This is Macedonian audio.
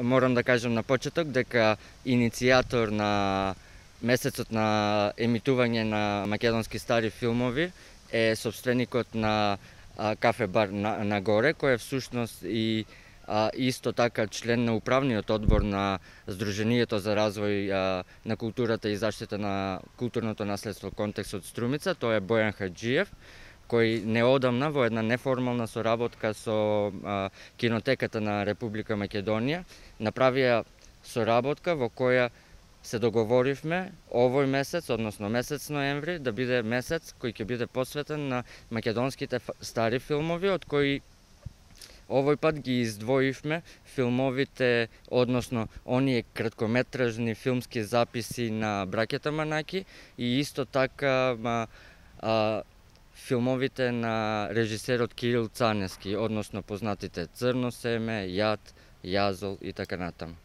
морам да кажам на почеток дека иницијатор на месецот на емитување на македонски стари филмови е собственикот на кафе бар на горе, кој е всушност и исто така член на управниот одбор на Сдруженијето за развој на културата и заштита на културното наследство Контекст од Струмица. Тој е Бојан Хаџиев, кој неодамна во една неформална соработка со Кинотеката на Република Македонија направија соработка во која се договоривме овој месец, односно месец ноември, да биде месец кој ќе биде посветен на македонските стари филмови, од кои овој пат ги издвоивме филмовите, односно оние краткометражни филмски записи на браќата Манаки и исто така филмовите на режисерот Кирил Цаневски, односно познатите Црно семе, Јад, Јазол и така натаму.